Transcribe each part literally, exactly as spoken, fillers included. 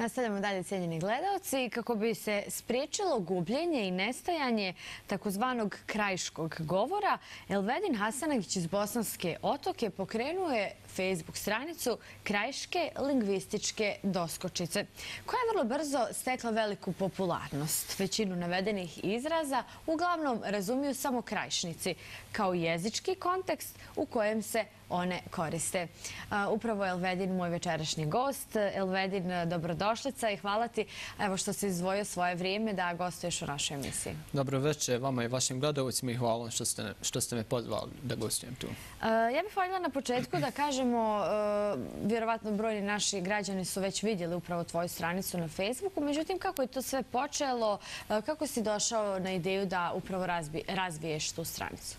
Nastavljamo dalje, cijenjeni gledaoci. Kako bi se spriječilo gubljenje i nestajanje takozvanog krajiškog govora, Elvedin Hasanagić iz Bosanske Otoke pokrenuo je Facebook stranicu Krajiške lingvističke doskočice, koja je vrlo brzo stekla veliku popularnost. Većinu navedenih izraza uglavnom razumiju samo krajišnici, kao jezički kontekst u kojem se one koriste. Upravo je Elvedin moj večerašnji gost. Elvedin, dobrodošlica i hvala ti evo što si izdvojio svoje vrijeme da gostuješ u našoj emisiji. Dobro večer vama i vašim gledalcima i hvala što ste, što ste me pozvali da gostujem tu. Ja bih voljela na početku da kažemo, vjerovatno brojni naši građani su već vidjeli upravo tvoju stranicu na Facebooku, međutim kako je to sve počelo, kako si došao na ideju da upravo razviješ tu stranicu?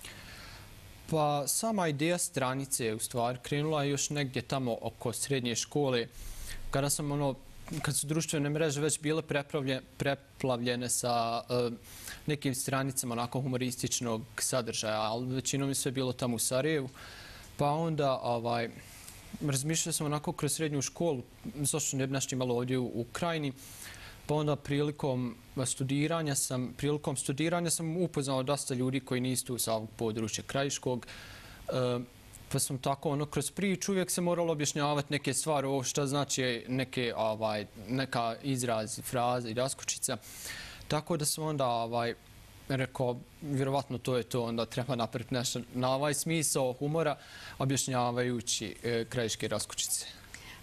Pa sama ideja stranice je u stvari krenula još negdje tamo oko srednje škole, kada sam ono, kad su društvene mreže već bile preplavljene sa uh, nekim stranicama onako humorističnog sadržaja, ali većinom je sve bilo tamo u Sarajevu. Pa onda ovaj, razmišljao sam onako kroz srednju školu, zašto ne bi nešto imalo ovdje u, u Krajini. Pa onda prilikom studiranja sam, prilikom studiranja sam upoznao dosta ljudi koji nisu tu sa ovog područja krajiškog. E, pa sam tako ono kroz priču uvijek se moralo objašnjavati neke stvari, ovo šta znači neke, ovaj, neka izraz, fraza i raskočica. Tako da sam onda ovaj, rekao, vjerovatno to je to, onda treba napraviti nešto na ovaj smisao humora objašnjavajući e, krajiške raskočice.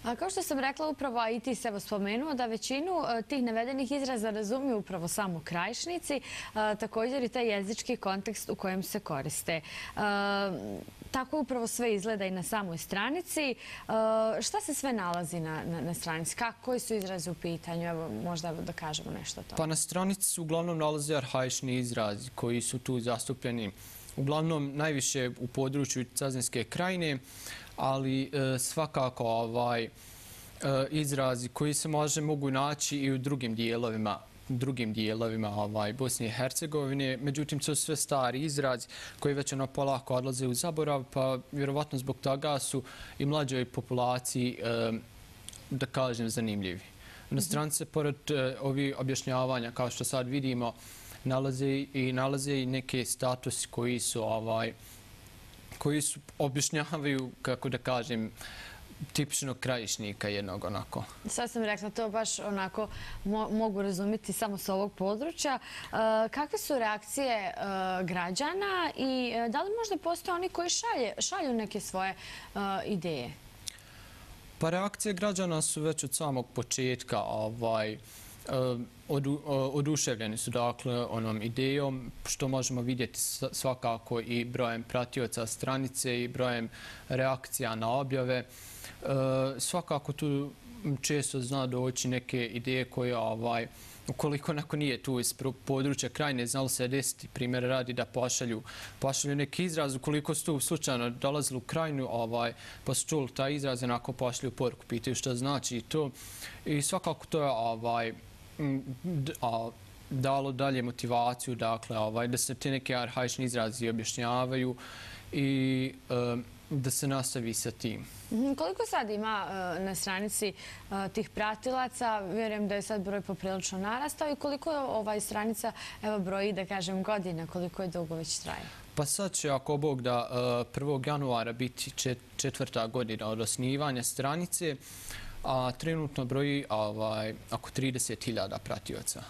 A kao što sam rekla upravo, a i ti se evo spomenuo, da većinu tih navedenih izraza razumiju upravo samo krajišnici, a, također i taj jezički kontekst u kojem se koriste. A, tako upravo sve izgleda i na samoj stranici. A, šta se sve nalazi na, na, na stranici? Kako, koji su izrazi u pitanju? Evo, možda da kažemo nešto o tome. Pa na stranici su uglavnom nalaze arhaični izrazi koji su tu zastupljeni. Uglavnom najviše u području Cazinske krajine, ali e, svakako ovaj, e, izrazi koji se može mogu naći i u drugim dijelovima, drugim dijelovima ovaj, Bosne i Hercegovine. Međutim, to su sve stari izrazi koji već ono polako odlaze u zaborav, pa vjerovatno zbog toga su i mlađoj populaciji, e, da kažem, zanimljivi. Na stranici, pored e, ovih objašnjavanja, kao što sad vidimo, nalaze i nalaze i neke statusi koji su ovaj koji su objašnjavaju, kako da kažem, tipičnog krajišnika jednog onako. Sad sam rekla, to baš onako mo mogu razumjeti samo s ovog područja. E, kakve su reakcije e, građana i e, da li možda postoje oni koji šalje, šalju neke svoje e, ideje? Pa reakcije građana su već od samog početka ovaj, Odu, oduševljeni su dakle onom idejom, što možemo vidjeti svakako i brojem pratioca stranice i brojem reakcija na objave. E, svakako tu često zna doći neke ideje koje, ovaj, ukoliko neko nije tu iz područja Krajine, znalo se desiti, primjer radi da pošalju, pošalju neki izraz, ukoliko su tu slučajno dolazili u Krajinu, ovaj, pa su čuli taj izraz, onako pošalju poruku, pitaju što znači i to. I svakako to je ovaj, a, dalo dalje motivaciju, dakle, ovaj, da se te neke arhaični izrazi objašnjavaju i e, da se nastavi sa tim. Koliko sad ima e, na stranici e, tih pratilaca? Vjerujem da je sad broj poprilično narastao i koliko je ovaj stranica evo, broji, da kažem, godina, koliko je dugo već traje? Pa sad će, ako Bog da, e, prvog januara biti čet, četvrta godina od osnivanja stranice, a trenutno broji ovaj, oko trideset hiljada pratioca.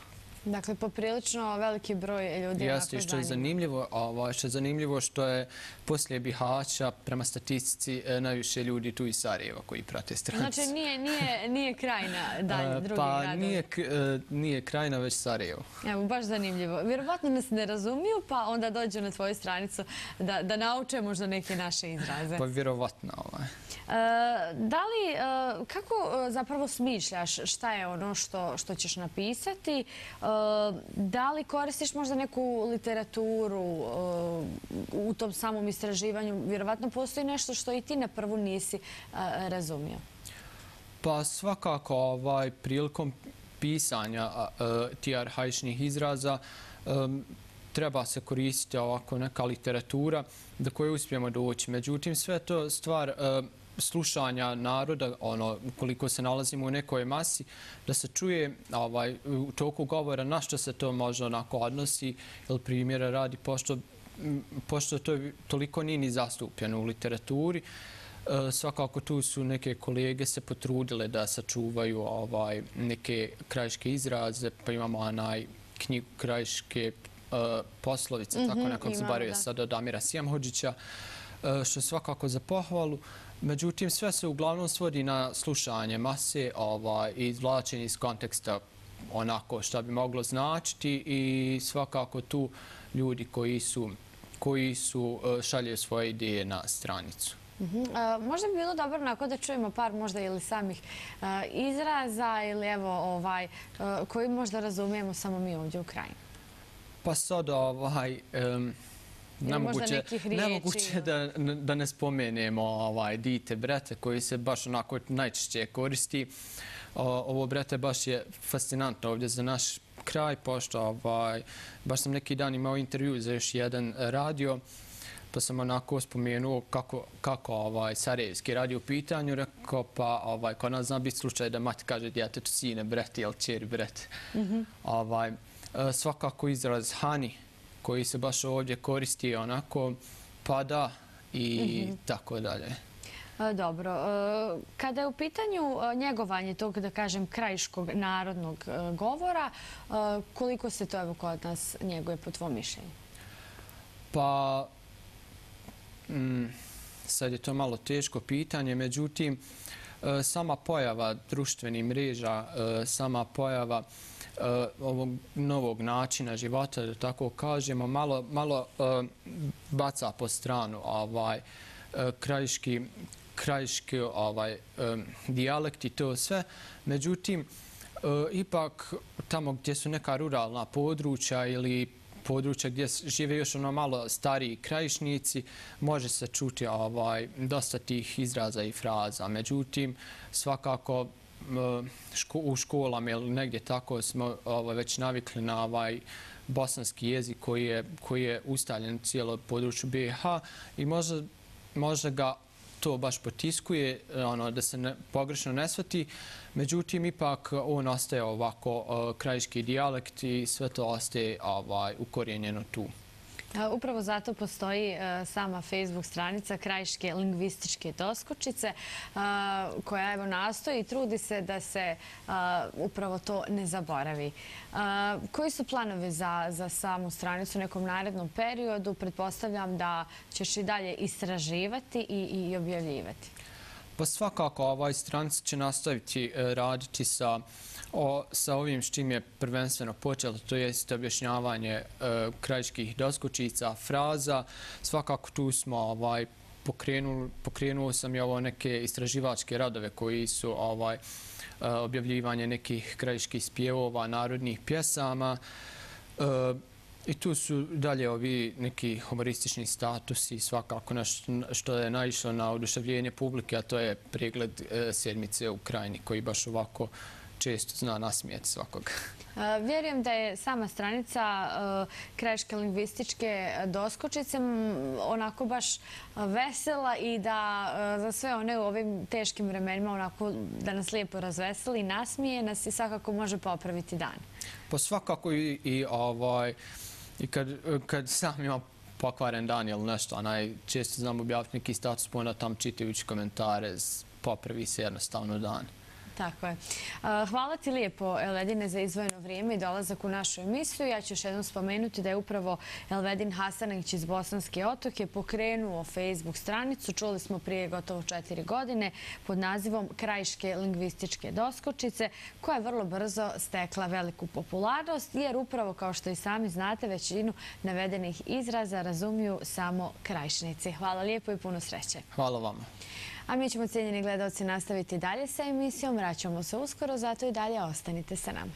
Dakle, poprilično veliki broj ljudi. Jeste, što je zanimljivo, ovaj, što je zanimljivo što je poslije Bihaća, prema statistici, najviše ljudi tu iz Sarajeva koji prate stranicu. Znači, nije, nije, nije Krajina dalje, drugi pa, gradovi? Nije, nije Krajina, već Sarajevo. Evo, baš zanimljivo. Vjerovatno nas ne razumiju, pa onda dođu na tvoju stranicu da, da nauče možda neke naše izraze. Pa vjerovatno. Ovaj. Da li, kako zapravo smišljaš šta je ono što, što ćeš napisati? Da li koristiš možda neku literaturu u tom samom istraživanju? Vjerovatno postoji nešto što i ti na prvu nisi razumio. Pa svakako ovaj, prilikom pisanja tih arhaičnih izraza treba se koristiti ovako neka literatura do koje uspijemo doći. Međutim, sve to stvar slušanja naroda, ono, koliko se nalazimo u nekoj masi, da se čuje ovaj, u toku govora na što se to možda onako odnosi, ili primjera radi, pošto, pošto to toliko nije ni zastupljeno u literaturi. E, svakako tu su neke kolege se potrudile da sačuvaju ovaj, neke krajiške izraze, pa imamo onaj knjigu krajiške uh, poslovice, mm -hmm, tako nekog zaboravio sad od Amira Sjemhodžića, uh, što je svakako za pohvalu. Međutim, sve se uglavnom svodi na slušanje mase ovaj, i izvlačenje iz konteksta onako što bi moglo značiti i svakako tu ljudi koji su, koji su uh, šalje svoje ideje na stranicu. Uh-huh. uh, možda bi bilo dobro onako da čujemo par možda ili samih uh, izraza ili evo ovaj, uh, koji možda razumijemo samo mi ovdje u krajini. Pa sad ovaj... Um, Nemoguće, nemoguće da, da ne spomenemo ovaj, dite brete koji se baš onako najčešće koristi. O, ovo brete baš je fascinantno ovdje za naš kraj, pošto ovaj, baš sam neki dan imao intervju za još jedan radio, pa sam onako spomenuo kako, kako ovaj, Sarajevski radio u pitanju, rekao pa ovaj, kod nas zna biti slučaj da mati kaže djetetu sine brete ili čeri brete. Mm-hmm. ovaj, svakako izraz hani, koji se baš ovdje koristi onako pada i mm-hmm. tako dalje. Dobro. Kada je u pitanju njegovanje tog, da kažem, krajiškog narodnog govora, koliko se to evo kod nas njeguje po tvom mišljenju? Pa, mm, sad je to malo teško pitanje, međutim, sama pojava društvenih mreža, sama pojava Uh, ovog novog načina života, da tako kažemo, malo, malo uh, baca po stranu ovaj, uh, krajiški, krajiški ovaj, um, dijalekt i to sve. Međutim, uh, ipak tamo gdje su neka ruralna područja ili područja gdje žive još ono malo stariji krajišnici, može se čuti ovaj, dosta tih izraza i fraza. Međutim, svakako u školama ili negdje tako smo ovaj, već navikli na ovaj bosanski jezik koji je, koji je ustaljen u cijelo području B i H i možda, možda ga to baš potiskuje, ono, da se ne, pogrešno ne shvati. Međutim, ipak on ostaje ovako uh, krajiški dijalekt i sve to ostaje ovaj, ukorijenjeno tu. Upravo zato postoji sama Facebook stranica Krajiške lingvističke doskočice koja evo nastoji i trudi se da se upravo to ne zaboravi. Koji su planovi za, za samu stranicu u nekom narednom periodu? Pretpostavljam da ćeš i dalje istraživati i, i objavljivati. Pa svakako ovaj stranica će nastaviti raditi sa O, sa ovim s čim je prvenstveno počelo, to je objašnjavanje e, krajiških doskočica, fraza. Svakako tu smo ovaj, pokrenuli, pokrenuo sam i ovo neke istraživačke radove koji su ovaj, e, objavljivanje nekih krajiških spjevova, narodnih pjesama. E, I tu su dalje ovi neki humoristični statusi, svakako nešto što je naišlo na oduševljenje publike, a to je pregled e, sedmice u krajini koji baš ovako često zna nasmijeti svakog. Vjerujem da je sama stranica Krajiške lingvističke doskočice onako baš vesela i da za sve one u ovim teškim vremenima onako da nas lijepo razveseli i nasmije nas i svakako može popraviti dan. Pa svakako i, i, ovaj, i kad, kad sam ima pokvaren dan ili nešto, onaj, često znam objaviti neki status, pa onda tam čitajući komentare, popravi se jednostavno dan. Tako je. Hvala ti lijepo, Elvedine, za izdvojeno vrijeme i dolazak u našu emisiju. Ja ću još jednom spomenuti da je upravo Elvedin Hasanagić iz Bosanske Otoke pokrenuo Facebook stranicu. Čuli smo prije gotovo četiri godine pod nazivom Krajiške lingvističke doskočice, koja je vrlo brzo stekla veliku popularnost, jer upravo, kao što i sami znate, većinu navedenih izraza razumiju samo krajišnici. Hvala lijepo i puno sreće. Hvala vama. A mi ćemo, cijenjeni gledalci, nastaviti dalje sa emisijom. Vraćamo se uskoro, zato i dalje ostanite sa nama.